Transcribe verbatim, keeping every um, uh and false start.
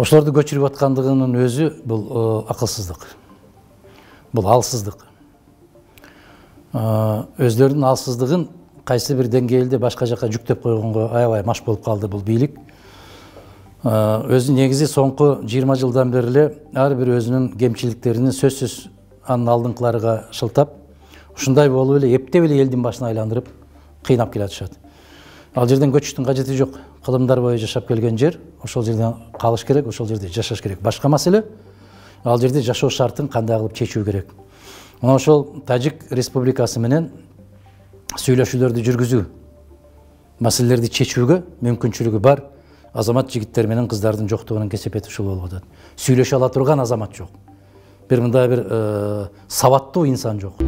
ошолорду көчүрүп аткандыгынын өзү бул акылсыздык, бул алсыздык. Өздөрүнүн алсыздыгын кайсы бир деңгээлде башка жака жүктөп койгонго аябай маш болуп калды бул бийлик. Өзү негизи соңку жыйырма жылдан бери эле ар бир өзүнүн кемчиликтерин сөзсүз анын алдыңкыларга шылтап, ушундай болуп эле эптеп эле элдин башына айландырып кыйнап келатышат. Ал жерден көчүштүн кажети жок. Кылымдар бою жашап келген жер, ошол жерден калыш керек, ошол жерде жашаш керек. Башка маселе, ал жерде жашоо шартын кандай кылып чечүү керек. Мына ошол Тажик Республикасы менен сүйлөшүүлөрдү жүргүзүү, маселелерди чечүүгө мүмкүнчүлүгү бар азамат жигиттер менен кыздардын жоктугунун кесепети ушул болуп атат. Сүйлөшө ала турган азамат жок. Бир мындай бир сабаттуу инсан жок.